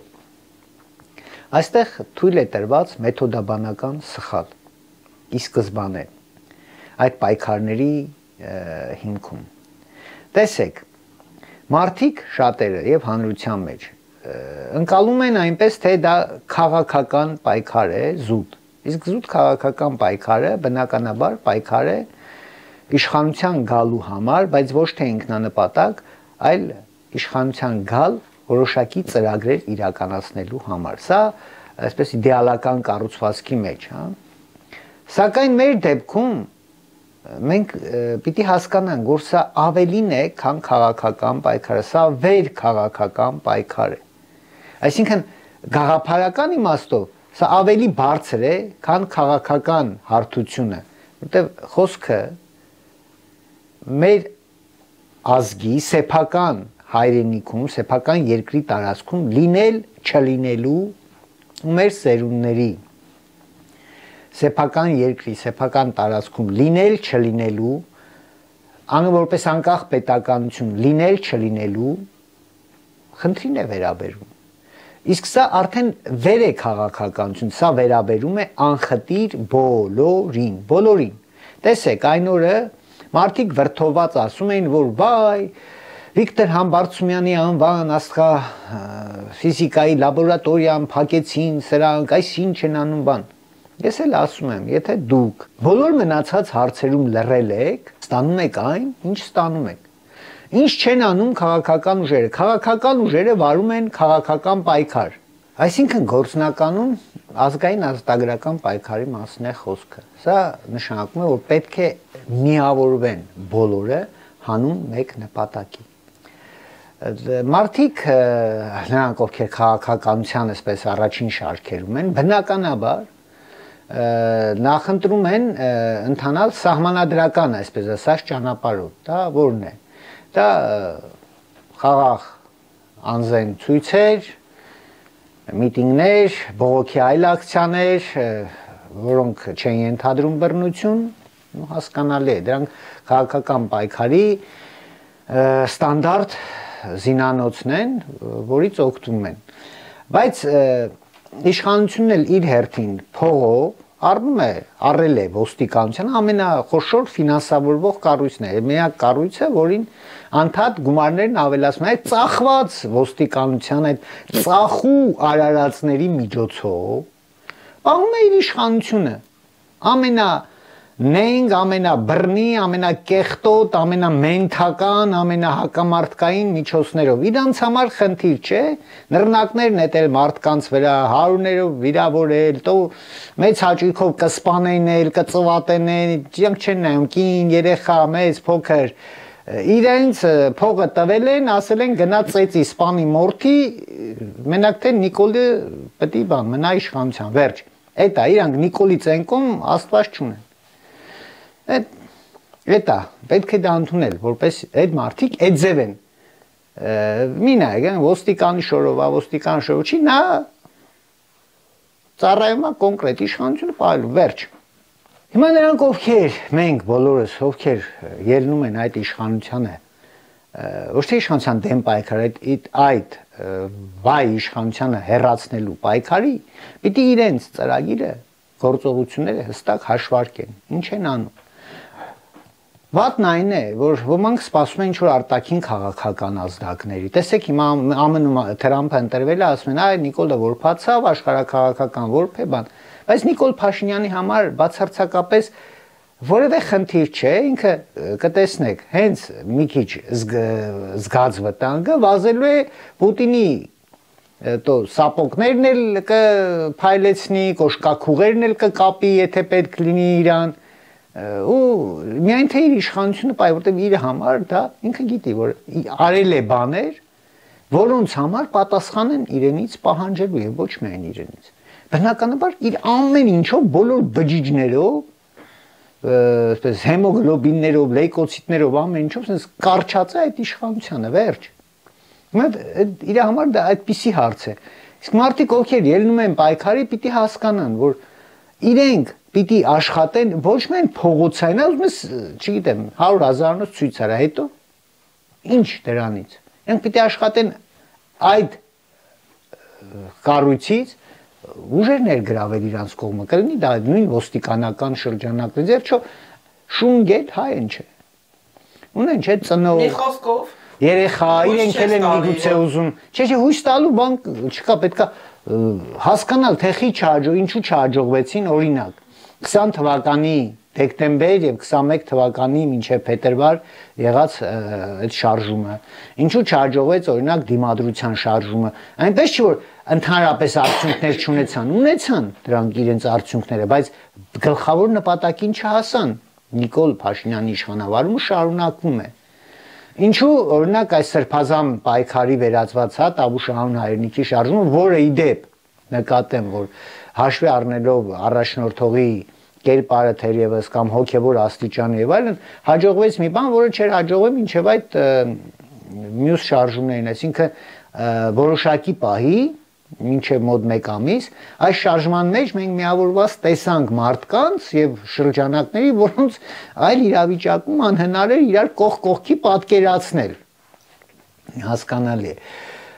այստեղ թույլ է տրված մեթոդաբանական սխալ ի սկզբանե այդ պայքարների հիմքում։ Տեսեք, մարդիկ շատերը եւ հանրության մեջ ընկալում են այնպես, թե դա քաղաքական պայքար է, զուտ։ Իսկ զուտ քաղաքական պայքարը բնականաբար պայքար է իշխանության գալու համար, բայց ոչ թե ինքնանպատակ, այլ իշխանության գալ որոշակի ծրագրեր իրականացնելու համար։ Սա այսպես իդեալական կառուցվածքի մեջ, հա։ Սակայն մեր դեպքում մենք պիտի հասկանանք, որ սա ավելին է, քան քաղաքական պայքարը, սա վեր քաղաքական պայքար է։ Այսինքն գաղափարական իմաստով սա ավելի բարձր է, քան քաղաքական հարթությունը, որտեղ խոսքը մեր ազգի սեփական հայրենիքում, սեփական երկրի տարածքում լինել չլինելու ու մեր սերունդների սեփական երկրի, սեփական տարածքում լինել չլինելու, անը որպես անկախ պետականություն լինել չլինելու խնդրին է վերաբերում։ Իսկ սա արդեն վեր է քաղաքականություն, սա վերաբերում է անխտիր բոլորին, բոլորին։ Տեսեք, այն օրը մարդիկ վրդոված ասում էին, որ վայ, Վիկտոր Համբարձումյանի անվան աստղա ֆիզիկայի լաբորատորիան փակեցին, սրանք այս ինչ են անում բան։ Ես էլ ասում եմ, եթե դուք բոլոր մնացած հարցերում լռել եք, ստանում եք այն, ինչ ստանում եք։ Ինչ չեն անում քաղաքական ուժերը։ Քաղաքական ուժերը վարում են քաղաքական պայքար։ Այսինքն գործնականում ազգային ազատագրական պայքարի մասն է խոսքը։ Սա նշանակում է, որ պետք է միավորվեն բոլորը հանուն մեկ նպատակի։ Մարդիկ, նրանք ովքեր քաղաքականության այսպես առաջին շարքերում են, բնականաբար նախընտրում են ընթանալ սահմանադրական, այսպես ասած, ճանապարհով, դա որն է։ Դա խաղաղ անձեն ցույցեր, միտինգներ, բողոքի այլ ակցիաներ, որոնք չեն ենթադրում բռնություն, հասկանալի է, դրանք քաղաքական պայքարի ստանդարտ զինանոցն են, որից օգտվում են։ Բայց իշխանությունն էլ իր հերթին փողով առնում է, առել է ոստիկանության ամենախոշոր ֆինանսավորվող կառույցն է, միակ կառույցը, որին անդադ գումարներն ավելացնում է, այդ ծախված ոստիկանության, այդ ծախու արարածների միջոցով, պահում է իր իշխանությունը, ամենա նենք, ամենաբռնի, ամենակեղտոտ, ամենամենթական, ամենահակամարտկային միջոցներով։ Իրանց համար խնդիր չէ, նռնակներ նետել մարդկանց վրա, հարյուրներով վիրավորել, տո մեծ հաճույքով կսպանեն, կծվատեն, իրանք չեն նայում, կին, երեխա, մեծ, փոքր, իրենց փողը տվել են, ասել են գնա ծեծի սպանի մորթի, մենակ թե Նիկոլը պետք է բան մնա իշխանության, վերջ։ Էդ է, իրանք Նիկոլի ծենկում աստված չունեն։ Էդ է, պետք է դա ընդունել, որպես այդ մարդիկ այդ ձև են։ Մի նայեք, ոստիկանի շորով, ոստիկան շորով չի, նա ծառայում է կոնկրետ իշխանությունը պահելու, վերջ։ Հիմա նրանք ովքեր, մենք բոլորս, ովքեր ելնում են այդ իշխանությանը, ոչ թե իշխանության դեմ պայքար, այդ վայ իշխանությանը հեռացնելու պայքարի, պիտի իրենց ծրագիրը, գործողությունները հստակ հաշվարկեն, ինչ են անում։ Վատն այն է, որ ոմանք սպասում են ինչ-որ արտաքին քաղաքական ազդակների։ Տեսեք, հիմա ամնում Թրամփը ընտրվել է, ասում են, այ Նիկոլը որբացավ, աշխարհաքաղաքական որբ է բան։ Բայց Նիկոլ Փաշինյանի համար բացարձակապես որևէ խնդիր չէ, ինքը կտեսնեք, հենց մի քիչ զգաց վտանգը վազելու է Պուտինի տո սապոկներն էլ կփայլեցնի, կոշկաքուղերն էլ կկապի, եթե պետք լինի իրան ու միայն թե իր իշխանությունը պայ, որտեղ իր համար դա ինքը գիտի, որ արել է բաներ, որոնց համար պատասխան են իրենից պահանջելու եւ ոչ միայն իրենից։ Բնականաբար իր ամեն ինչով, բոլոր բջիջներով, այսպես հեմոգլոբիններով, լեյկոցիտներով, ամեն ինչով sense կարճած է այդ իշխանությունը, վերջ։ Հիմա իր համար դա այդպիսի հարց է։ Իսկ մարդիկ ովքեր ելնում են պայքարի, պիտի հասկանան, որ իրենք պիտի աշխատեն ոչ միայն փողոցային, ուզում ես, չգիտեմ, հարյուր հազարանոց ցույց արա, հետո ինչ դրանից։ Իրենք պիտի աշխատեն այդ կառույցից ուժեր ներգրավել իրանց կողմը, կլինի դա նույն ոստիկանական շրջանակներից, եւ չէ, շունգետ հայ են չէ։ Ունեն չէ ծնող։ Մի խոսքով երեխա, իրենք էլ են միգուցե ուզում։ Չէ, չէ, հույս տալու բան չկա, պետքա հասկանալ, թե խի չհաջող, ինչու չհաջողվեցին, օրինակ քսան թվականի դեկտեմբեր եւ քսանմեկ թվականի մինչեւ փետրվար եղած այդ շարժումը ինչու չհաջողվեց օրինակ դիմադրության շարժումը այնպես չի որ ընդհանրապես արդյունքներ չունեցան ունեցան դրանք իրենց արդյունքները բայց գլխավոր նպատակին չհասան Նիկոլ Փաշինյանի իշխանավարումը շարունակվում է ինչու օրինակ այս սրբազան պայքարի վերածված հա Տավուշ անուն հայրենիքի շարժումը որը ի դեպ նկատեմ որ հաշվի առնելով առաջնորդողի կերպարը թերևս կամ հոգևոր աստիճանը եւ այլն հաջողվեց մի բան, որը չէր հաջողվում մինչեւ այդ մյուս շարժումներին, այսինքն որոշակի պահի մինչեւ մոտ մեկ ամիս այս շարժման մեջ մենք միավորված տեսանք մարդկանց եւ շրջանակների, որոնց այլ իրավիճակում անհնար էր իրար կողք կողքի պատկերացնել։ Հասկանալի է։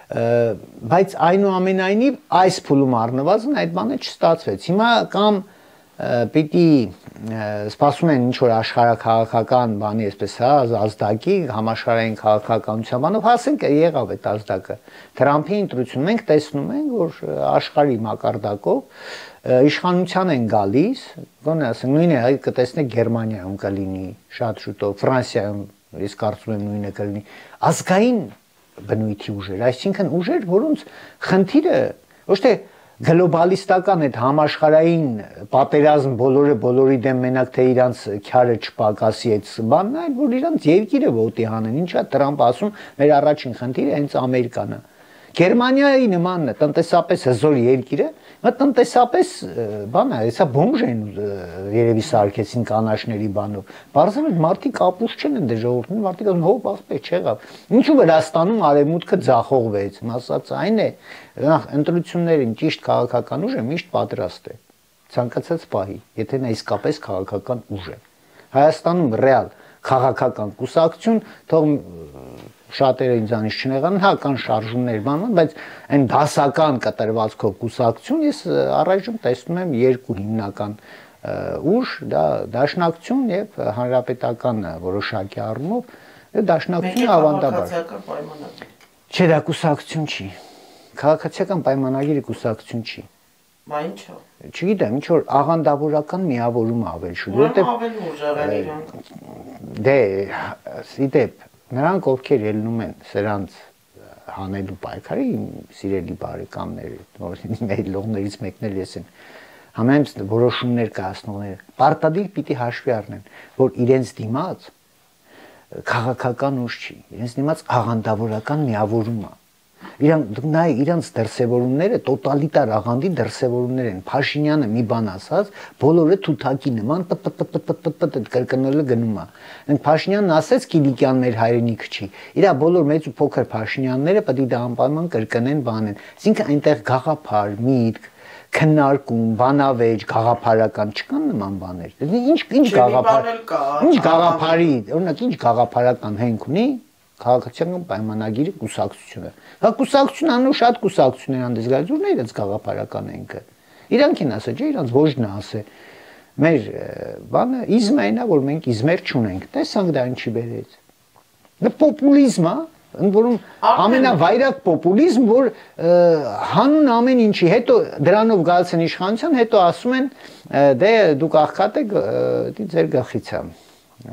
Բայց այնուամենայնիվ այս փուլում առնվազն այդ բանը չստացվեց։ Հիմա կամ պիտի սպասում են ինչ-որ աշխարհաքաղաքական բանի, այսպես հա, ազդակի, համաշխարհային քաղաքականության բանով հասենք եղավ այդ ազդակը։ Թրամփի ընտրությունը մենք տեսնում ենք, որ աշխարհի մակարդակով իշխանության են գալիս, գոնե ասենք նույնը այ կտեսնեք Գերմանիայում կլինի շատ շուտով, Ֆրանսիայում ես կարծում եմ նույնը կլինի, ազգային բնույթի ուժեր, այսինքն ուժեր, որոնց խնդիրը ոչ թե գլոբալիստական այդ համաշխարհային պատերազմ բոլորը բոլորի դեմ մենակ թե իրանց քյարը չպակասի այդ բանն այլ որ իրանց երկիրը ոտի հանեն ինչա Տրամփը ասում մեր առաջին խնդիրը հենց Ամերիկան է Գերմանիայի նման տնտեսապես հզոր երկիրը մա տնտեսապես բան է հեսա բոմժ են երևի սարքեցին կանաչների բանով բարձր մարդիկ ապուշ չեն դե ժողովուրդն մարդիկ ասում հոп ասպե չեղավ ինչու Վրաստանում արևմուտքը ձախողվեց ասած այն է նախ ընտրություններին ճիշտ քաղաքական ուժը միշտ պատրաստ է ցանկացած պահի եթե նա իսկապես քաղաքական ուժ է Հայաստանում ռեալ քաղաքական կուսակցություն թող շատերը ինձանից չնեղան, հա կան շարժումներ բանան, բայց այն դասական կտրվածքով կուսակցություն ես առայժմ տեսնում եմ երկու հիմնական ուժ, դա դաշնակցություն եւ հանրապետական որոշակի առումով, դաշնակցությունը ավանդաբար։ Չէ, դա կուսակցություն չի։ Քաղաքացիական պայմանագիրը կուսակցություն չի։ Բա ինչո՞։ Չգիտեմ, ինչ որ աղանդավորական միավորում ավել շուտ, որտեղ ավելի ուժեղեն իրանք։ Դե, իդեպ Նրանք ովքեր ելնում են սրանց հանելու պայքարի սիրելի բարեկամներ, մեր լողներից մեկն էլ ես եմ, համենայն որոշումներ կայացնողները, պարտադիր պիտի հաշվի առնեն, որ իրենց դիմաց քաղաքական ուժ չի, իրենց դիմաց աղանդավորական միավորում է։ Իրանք նայ իրանք դրսևորումները տոտալիտար աղանդի դրսևորումներ են։ Փաշինյանը մի բան ասած, բոլորը թութակի նման պտ-պտ-պտ-պտ կրկնելը գնում է։ Այնք Փաշինյանն ասեց Կիլիկյան մեր հայրենիքը չի։ Իրա բոլոր մեծ ու փոքր Փաշինյանները պետք է դա անպայման կրկնեն բանեն։ Այսինքն այնտեղ գաղափար, միտք, քննարկում, բանավեճ, գաղափարական չկան նման բաներ։ Ինչ ինչ գաղափար։ Ինչ գաղափարի, օրինակ ինչ գաղափարական հենք ունի քաղաքացիական պայմանագիրը կուսակցությունը։ Հա կուսակցություն անու շատ կուսակցություններ հանդես գալիս, ուրն է իրենց գաղափարական ենքը։ Իրանք են ասա, չէ, իրանք ոչն է ասե։ մեր բանը իզմայնա, որ մենք իզմեր չունենք։ Տեսանք դա ինչի բերեց։ Դա պոպուլիզմ է, ընդ որում ամենավայրակ պոպուլիզմ, որ հանուն ամեն ինչի, հետո դրանով գալիս են իշխանության, հետո ասում են դե դուք աղքատ եք, դի ձեր գլխից է,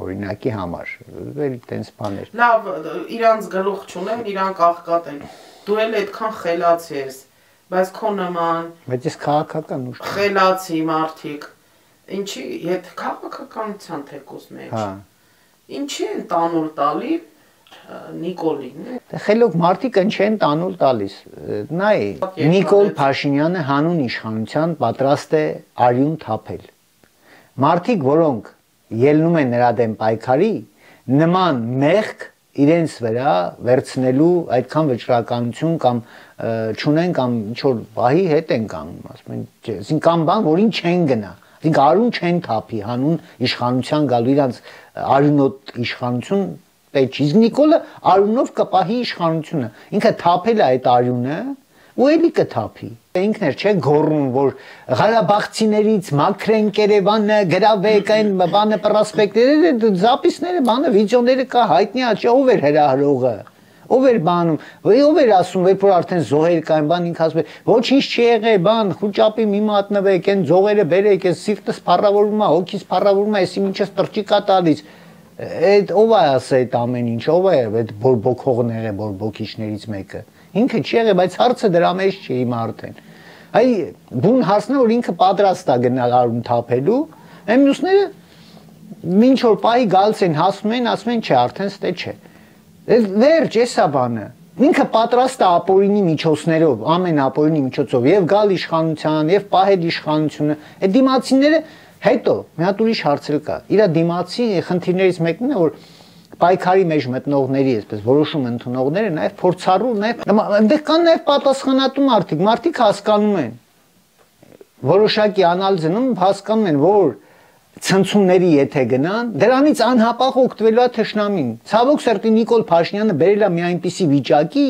օրինակի համար, վերի տենց բաներ։ Լավ, իրանց գլուխ չունեն, իրանք աղքատ են, դու էլ այդքան խելացի ես, բայց քո նման բայց ես քաղաքական ուժ խելացի մարդիկ, ինչի հետ քաղաքականության թեկուզ մեջ, ինչի են տանուլ տալի Նիկոլին։ Դե խելոք մարդիկ են չեն տանուլ տալիս։ Նայ, Նիկոլ Փաշինյանը հանուն իշխանության պատրաստ է արյուն թափել։ Մարդիկ, որոնք ելնում են նրա դեմ պայքարի, նման մեղք իրենց վրա վերցնելու այդքան վճռականություն կամ չունեն կամ ինչ որ բահի հետ են կանգնում, ասում են, կամ բան, որին չեն գնա։ Այսինքն արյուն չեն թափի հանուն իշխանության գալու իրանց արյունոտ իշխանություն պետք չի։ Նիկոլը արյունով կպահի իշխանությունը։ Ինքը թափել է այդ արյունը ու էլի կթափի։ Ինքն էր չէ գոռում, որ Ղարաբաղցիներից մաքրենք Երևանը, գրավեք այն բանը պրոսպեկտները, զապիսները, բանը վիդեոները կա, հայտնի է, չէ ով էր հրահրողը։ Ով էր բանում, ով էր ասում, որ արդեն զոհեր կային, բան ինքը ասում է, ոչինչ չի եղել, բան, խուճապի մի մատնվեք, այն զոհերը բերեք, այս սիրտս փառավորում է, հոգիս փառավորում է, էսի ինչս տրճիկ է տալիս։ Այդ ով է ասել այդ ամեն ինչ, ով է այդ բորբոքողները, բորբոքիչներից մեկը։ Ինքը չի եղել, բայց հարցը դրա մեջ չի հիմա արդեն։ Այ բուն հարցն է, որ ինքը պատրաստ է գնալ արյուն թափելու, այն մյուսները ինչ որ պահի գալիս են, հասնում են, ասում են, չէ, արդեն ստե չէ։ Վերջ, էսա բանը։ Ինքը պատրաստ է ապօրինի միջոցներով, ամեն ապօրինի միջոցով եւ գալ իշխանության, եւ պահել իշխանությունը։ Այդ դիմացիները հետո մի հատ ուրիշ հարց էլ կա։ Իրա դիմացի խնդիրներից մեկն է, որ պայքարի մեջ մտնողների, այսպես որոշում ընդունողները նաեւ փորձառու, նաեւ այնտեղ կան նաեւ պատասխանատու մարդիկ, մարդիկ հասկանում են։ Որոշակի անալիզ անում, հասկանում են, որ ցնցումների եթե գնան, դրանից անհապաղ օգտվելու է թշնամին։ Ցավոք սրտի Նիկոլ Փաշինյանը բերել է մի այնպիսի վիճակի,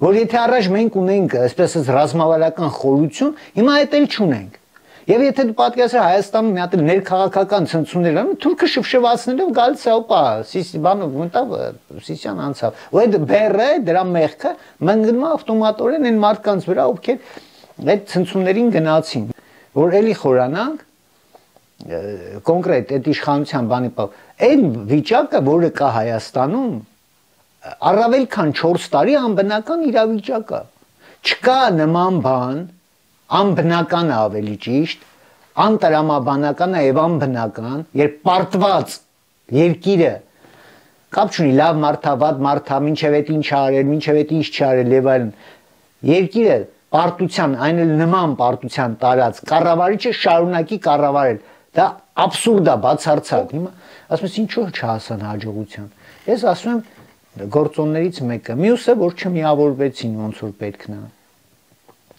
որ եթե առաջ մենք ունենք այսպես ռազմավարական խորություն, հիմա այդ էլ չունենք։ Եվ եթե դու պատկերացրու Հայաստանում մի հատ ներքաղաքական ցնցումներ անում, թուրքը շփշվածնելով գալիս է, օպա, սիսի բանով մտավ, Սիսյան անցավ։ Ու այդ բերը, դրա մեղքը մնգնում է ավտոմատորեն այն մարդկանց վրա, ովքեր այդ ցնցումներին գնացին, որ էլի խորանանք կոնկրետ այդ իշխանության բանի պավ, այն վիճակը, որը կա Հայաստանում, առավել քան չորս տարի անբնական իրավիճակ է։ Չկա նման բան, անբնական է ավելի ճիշտ, անտրամաբանական է եւ անբնական, երբ պարտված երկիրը կապ չունի լավ մարդա, վատ մարդա, մինչև այդ ինչ արել, մինչև այդ ինչ չարել եւ այլն, երկիրը պարտության, այն էլ նման պարտության տարած կառավարիչը շարունակի կառավարել։ Դա աբսուրդ է, բացարձակ։ Հիմա ասում ես ինչու չհասան հաջողության։ Ես ասում եմ գործոններից մեկը, մյուսը որ չմիավորվեցին ոնց որ պետքն է։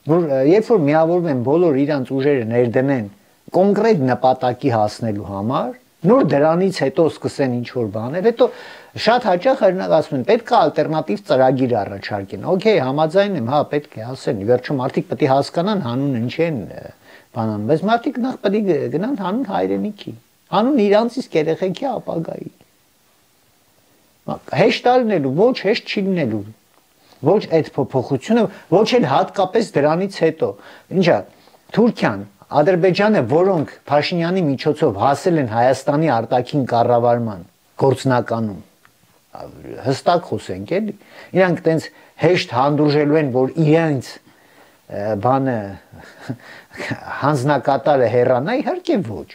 Որ երբ որ միավորվեն բոլոր իրանց ուժերը ներդնեն կոնկրետ նպատակի հասնելու համար, նոր դրանից հետո սկսեն ինչ որ բաներ, հետո շատ հաճախ օրինակ ասում են պետք է ալտերնատիվ ծրագիր առաջարկեն։ Okay, համաձայն եմ, հա, պետք է ասեն։ Վերջում մարդիկ պետք է հասկանան հանուն ինչ են բանան, բայց մարդիկ նախ պետք է գնան հանուն հայրենիքի, հանուն իրանցից երեխեքի ապագայի։ Հեշտ ալնելու, ոչ հեշտ չի լինելու։ Ոչ այդ փոփոխությունը, ոչ էլ հատկապես դրանից հետո։ Ինչա, Թուրքիան, Ադրբեջանը, որոնք Փաշինյանի միջոցով հասել են Հայաստանի արտաքին կառավարման գործնականում, հստակ խոսենք էլի, իրանք տենց հեշտ հանդուրժելու են, որ իրենց բանը հանձնակատարը հեռանա, իհարկե ոչ։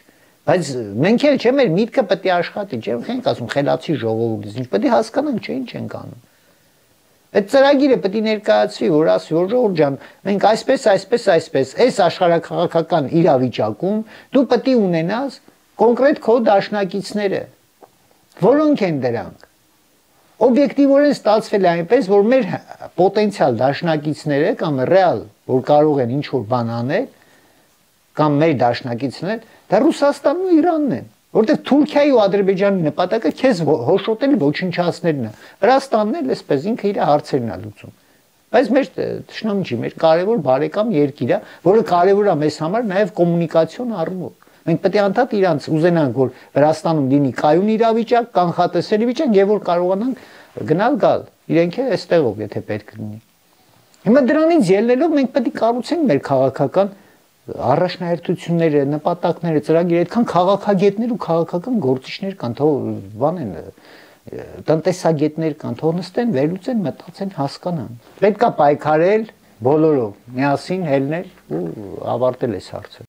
Բայց մենք էլ չէ, մեր միտքը պետք է աշխատի, չէ՞, մենք ասում խելացի ժողովուրդից, ինչ պետք է հասկանանք, չէ, ինչ ենք անում։ Այդ ծրագիրը պետք է ներկայացվի, որ ասի, որ ժողովուրդ ջան, մենք այսպես, այսպես, այսպես, այս աշխարհակաղակական իրավիճակում դու պետք է ունենաս կոնկրետ քո դաշնակիցները։ Որոնք են դրանք։ Օբյեկտիվորեն ստացվել է այնպես, որ մեր պոտենցիալ դաշնակիցները կամ ռեալ, որ կարող են ինչ-որ բան անել, կամ մեր դաշնակիցները, դա Ռուսաստանն ու Իրանն են։ Որտեղ Թուրքիայի ու Ադրբեջանի նպատակը քեզ հոշոտել ոչնչացնելն է։ Վրաստանն էլ էսպես ինքը իր հարցերն է լուծում։ Բայց մեր թշնամի չի, մեր կարևոր բարեկամ երկիր է, որը կարևոր է մեզ համար նաև կոմունիկացիոն առումով։ Մենք պետք է անդադ իրանց ուզենանք, որ Վրաստանում լինի կայուն իրավիճակ, կանխատեսելի վիճակ եւ որ կարողանանք գնալ գալ։ Իրենք է այստեղով, եթե պետք լինի։ Հիմա դրանից ելնելով մենք պետք է կառուցենք մեր քաղաքական առաջնահերթությունները, նպատակները, ծրագիրը, այդքան քաղաքագետներ ու քաղաքական գործիչներ կան, թող բան են տնտեսագետներ կան, թող նստեն, վերլուծեն, մտածեն, հասկանան։ Պետք է պայքարել բոլորով, միասին հելնել ու ավարտել այս հարցը։